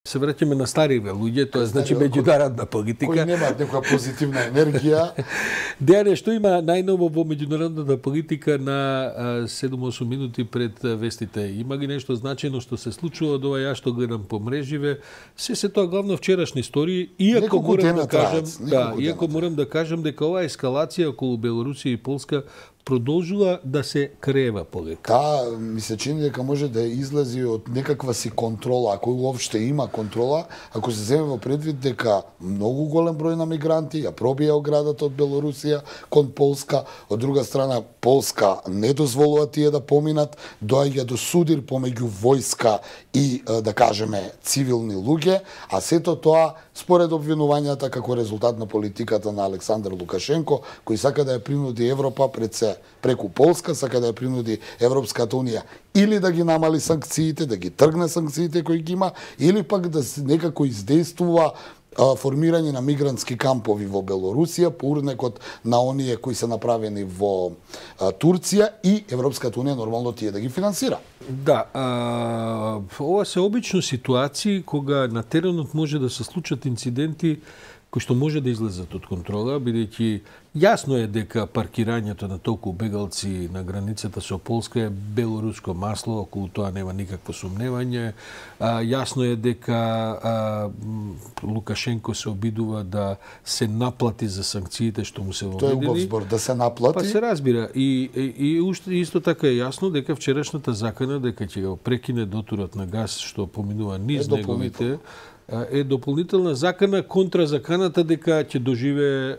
Се враќаме на стариве луѓе, тоа значи меѓународна политика. Кои немаат некоја позитивна енергија. Дејане, што има најново во меѓународната политика на 7-8 минути пред вестите? Има ли нешто значајно што се случува од ова ја што гледам по мреживе? Се тоа главно вчерашни истории, иако морам да кажам дека оваа ескалација околу Белорусија и Полска продолжува да се крева полека. Да, ми се чини дека може да излези од некаква си контрола, ако уопште има контрола, ако се земе во предвид дека многу голем број на мигранти ја пробија оградата од Белорусија кон Полска, од друга страна Полска не дозволува тие да поминат, доаѓа до судир помеѓу војска и, да кажеме, цивилни луѓе, а сето тоа според обвинувањата како резултат на политиката на Александар Лукашенко, кој сака да ја принуди Европа преку Полска, сака да ја принуди Европската унија или да ги намали санкциите, да ги тргне санкциите кои ги има, или пак да некако издействува формирање на мигрантски кампови во Белорусија по урнекот на оние кои се направени во Турција и Европската унија нормално тие да ги финансира. Да, ова се обично ситуации кога на теренот може да се случат инциденти кои што може да излезат од контрола, бидејќи јасно е дека паркирањето на толку бегалци на границата со Полска е белоруско масло, околу тоа нема никакво сумневање. Јасно е дека Лукашенко се обидува да се наплати за санкциите што му се воведени. Тој е убав збор, да се наплати. Па се разбира. И исто така е јасно дека вчерашната закана дека ќе го прекине дотурот на газ што поминува низ неговите е дополнителна закана контра заканата дека ќе доживее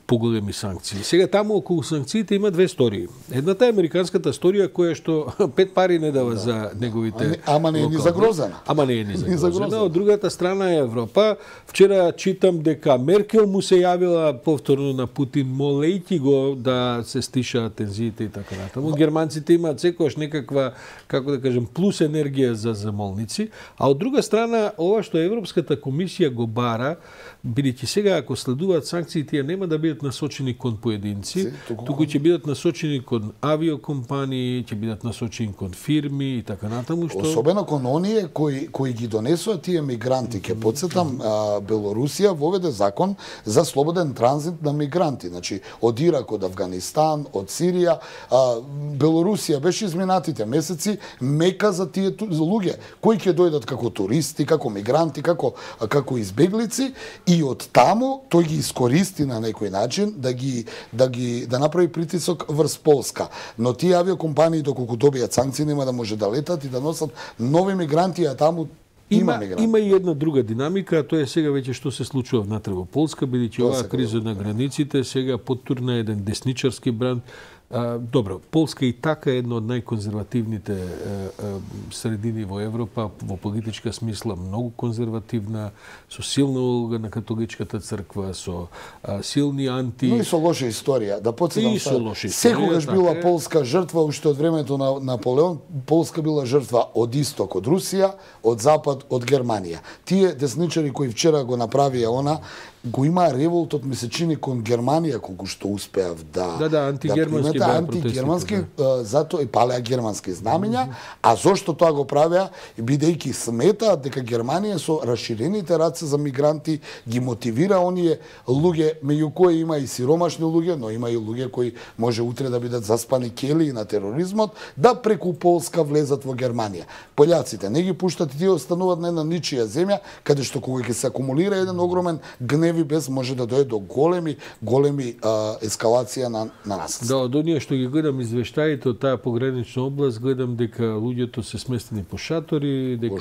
поголеми санкции. Сега таму околу санкциите има две истории. Едната е американската историја која што 5 пари не дава за неговите. Ама не е ни загрозена. Ама не е ни загрозена. Од другата страна е Европа. Вчера читам дека Меркел му се јавила повторно на Путин молејќи го да се стишаат тензиите и така натаму. Германците имаат секогаш некаква, како да кажем, плюс енергија за замолници, а од друга страна ова што Европската комисија го бара, бидејќи сега ако следуваат санкции, тие нема да бидат насочени кон поединци, туку ќе бидат насочени кон авиокомпании, ќе бидат насочени кон фирми и така натаму, што особено кон оние кои ги донесоа тие мигранти. Ќе потсетам, Белорусија воведе закон за слободен транзит на мигранти, значи од Ирак, од Авганистан, од Сирија. Белорусија беше изминатите месеци мека за тие луѓе кои ќе дојдат како туристи, како мигранти, како избеглици, и од таму тој ги искористи на некој начин да направи притисок врз Полска. Но тие авиокомпании доколку добијат санкции нема да може да летат и да носат нови мигранти, а таму има и една друга динамика, а тоа е сега веќе што се случува внатре во Полска, бидејќи оваа криза на границите сега поттурна еден десничарски бранд. Добро, Полска и така е една од најконзервативните средини во Европа, во политичка смисла многу конзервативна, со силна улога на католичката црква, со силни анти... Но и со лоша историја. Да потсетам, секогаш била Полска жртва, уште од времето на Наполеон, Полска била жртва од исток, од Русија, од запад, од Германија. Тие десничари кои вчера го направија она, го има револтот, ми се чини, кон Германија, колку што успеав антигермански, затоа и палеа германски знамења, а зошто тоа го правеа? Бидејќи сметаат дека Германија со расширените раце за мигранти ги мотивира оние луѓе, меѓу кои има и сиромашни луѓе, но има и луѓе кои може утре да бидат заспани келии на тероризмот, да преку Полска влезат во Германија. Пољаците не ги пуштат и тие остануваат на една ничија земја, каде што кога ќе се акумулира еден огромен гнев и бес може да дојде до големи ескалација на насилство. Да, од оние што ги гледам извештаите од таа погранична област, гледам дека луѓето се сместени по шатори, дека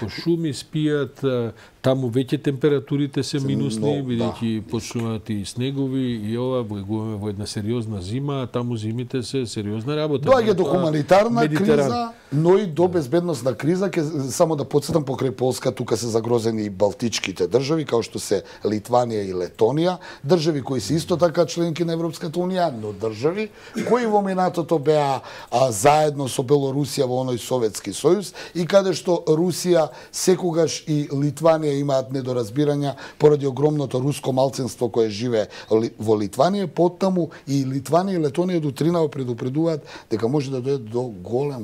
по шуми спијат, таму веќе температурите се минусни, бидејќи почнуваат и снегови и ова влегуваме во една сериозна зима, а таму зимите се сериозна работа. Доаѓа до хуманитарна криза, но и до безбедносна криза. Само да потсетам, покрај Полска тука се загрозени и балтичките држави, као што се Литванија и Летонија, држави кои се исто така членки на Европската унија, но држави кои во минатото беа заедно со Белорусија во оној Советски сојуз и каде што Русија секогаш и Литванија имаат недоразбирања поради огромното руско малцинство кое живее во Литванија, поттаму и Литванија и Летонија до тринава предупредуваат дека може да дојде до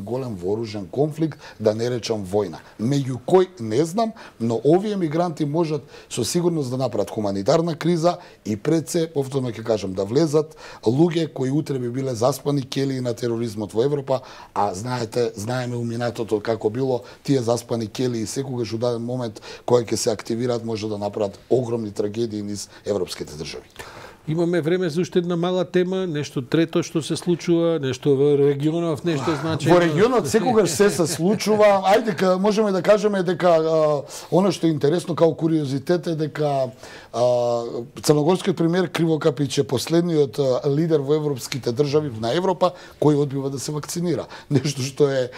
голем вооружен конфликт, да не речам војна. Меѓу кој не знам, но овие мигранти можат со сигурност да направат хуманитарна криза и пред се, повторно ќе кажам, да влезат луѓе кои утре би биле заспани келии на тероризмот во Европа, а знаеме у минатото како било тие заспани келии секогаш у даден момент кои ќе се активираат може да направат огромни трагедии низ европските држави. Имаме време за уште една мала тема, нешто трето што се случува, нешто во регионот, нешто значајно. Во регионот секогаш се случува. Ајде, можеме да кажеме дека она што е интересно као куриозитет е дека црногорскиот премиер Криво Капич е последниот лидер во европските држави на Европа кој одбива да се вакцинира. Нешто што е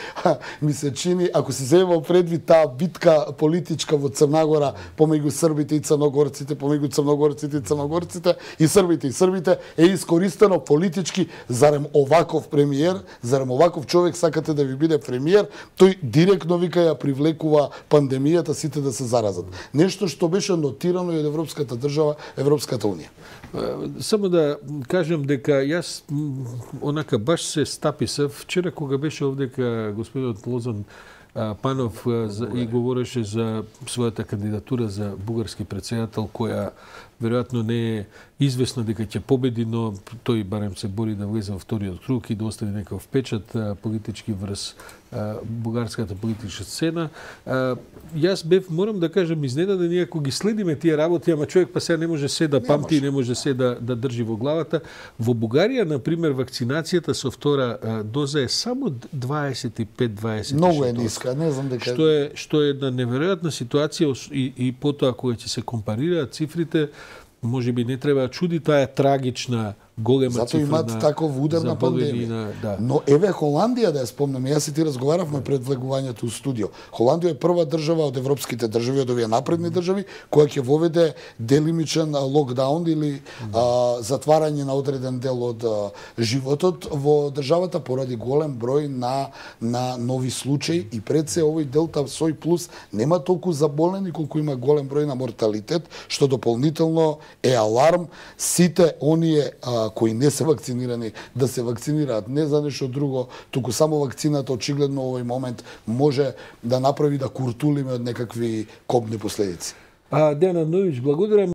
ми се чини, ако се земе предвид таа битка политичка во Црна помеѓу србите и црногорците, помеѓу црногорците и црногорците и србите е искористено политички, зарем оваков премиер, зарем оваков човек сакате да ви биде премиер, тој директно вика ја привлекува пандемијата сите да се заразат. Нешто што беше нотирано и од европската држава, Европската унија. Само да кажам дека јас онака баш се стаписав вчера кога беше овдека господинот Лозан Панов и говореше за својата кандидатура за бугарски претседател, која веројатно не е известно дека ќе победи, но тој барем се бори да влезе во вториот круг и да остави некаков печат политички врз бугарската политичка сцена. Јас бев, морам да кажам, изненаден иако ги следиме тие работи, ама човек па сега не може се да памти, не може се да држи во главата. Во Бугарија, например, вакцинацијата со втора доза е само 25-26%. Многу е ниска, не знам дека што е една неверојатна ситуација и потоа кога ќе се компарираат цифрите, може би не треба чуди таа трагична голема зато цифра. Зато имаат таков удар на пандемија. Да. Но еве Холандија, да ја спомнам, јас и ти разговаравме пред влегувањето у студио. Холандија е прва држава од европските држави, од овие напредни држави, која ќе воведе делимичен локдаун или затварање на одреден дел од животот во државата поради голем број на нови случаи и пред се овој Делта Сој плюс нема толку заболени колку има голем број на морталитет, што дополнително е аларм сите оние кои не се вакцинирани да се вакцинираат, не за нешто друго, туку само вакцината очигледно овој момент може да направи да куртулиме од некакви кобни последици. Дејан Андоновиќ, благодарам.